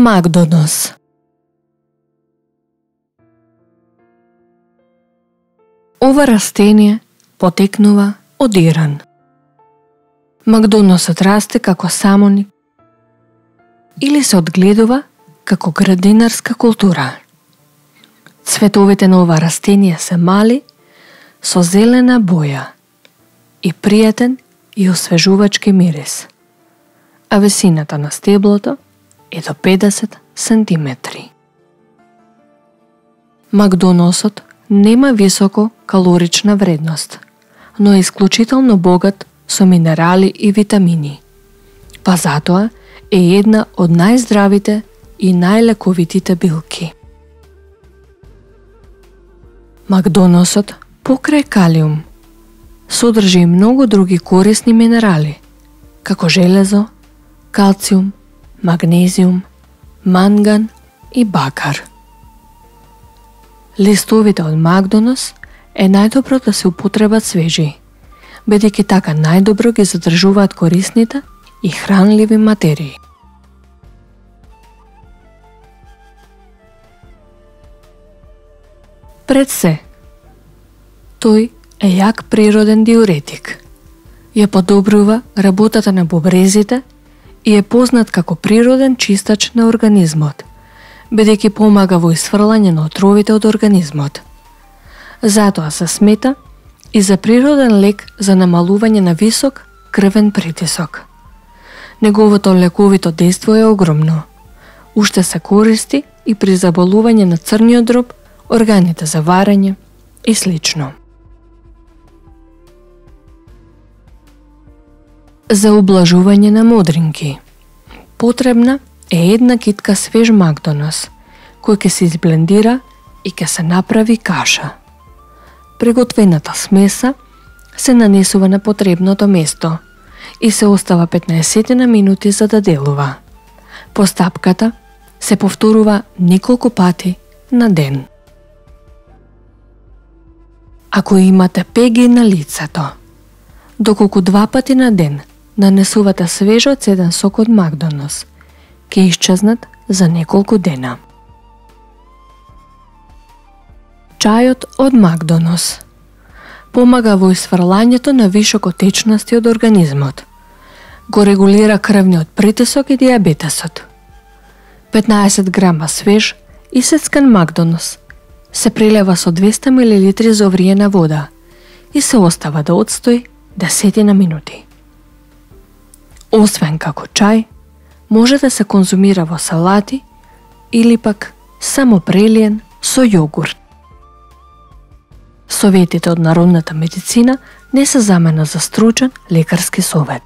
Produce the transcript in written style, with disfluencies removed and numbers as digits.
Макдонос. Ова растение потекнува од Иран. Макдоносот расте како самоник или се одгледува како градинарска култура. Цветовите на ова растение се мали, со зелена боја и пријатен и освежувачки мирис, а висината на стеблото е до 50 сантиметри. Макдоносот нема високо калорична вредност, но е исклучително богат со минерали и витамини, па затоа е една од најздравите и најлековитите билки. Макдоносот, покрај калиум, содржи и многу други корисни минерали, како железо, калциум, магнезиум, манган и бакар. Листовите од Макдонос е најдобро да се употребат свежи, бидејќи така најдобро ги задржуваат корисните и хранливи материи. Пред се, тој е јак природен диуретик. Ја подобрува работата на бубрезите и е познат како природен чистач на организмот, бидејќи помага во исфрлање на отровите од организмот. Затоа се смета и за природен лек за намалување на висок крвен притисок. Неговото лековито дејство е огромно. Уште се користи и при заболување на црниот дроб, органите за варење и слично. За ублажување на модринки потребна е една китка свеж Макдонос, кој ќе се изблендира и ќе се направи каша. Приготвената смеса се нанесува на потребното место и се остава 15 минути за да делува. Постапката се повторува неколку пати на ден. Ако имате пеги на лицето, доколку 2 пати на ден нанесувате свежо цеден сок од Макдонос, ќе исчезнат за неколку дена. Чајот од Макдонос помага во исфрлањето на вишоко течности од организмот. Го регулира крвниот притисок и дијабетесот. 15 грама свеж исецкан Макдонос се прелева со 200 мл зовриена вода и се остава да одстои 10 минути. Освен како чај, може да се конзумира во салати или пак само прелиен со јогурт. Советите од народната медицина не се замена за стручен лекарски совет.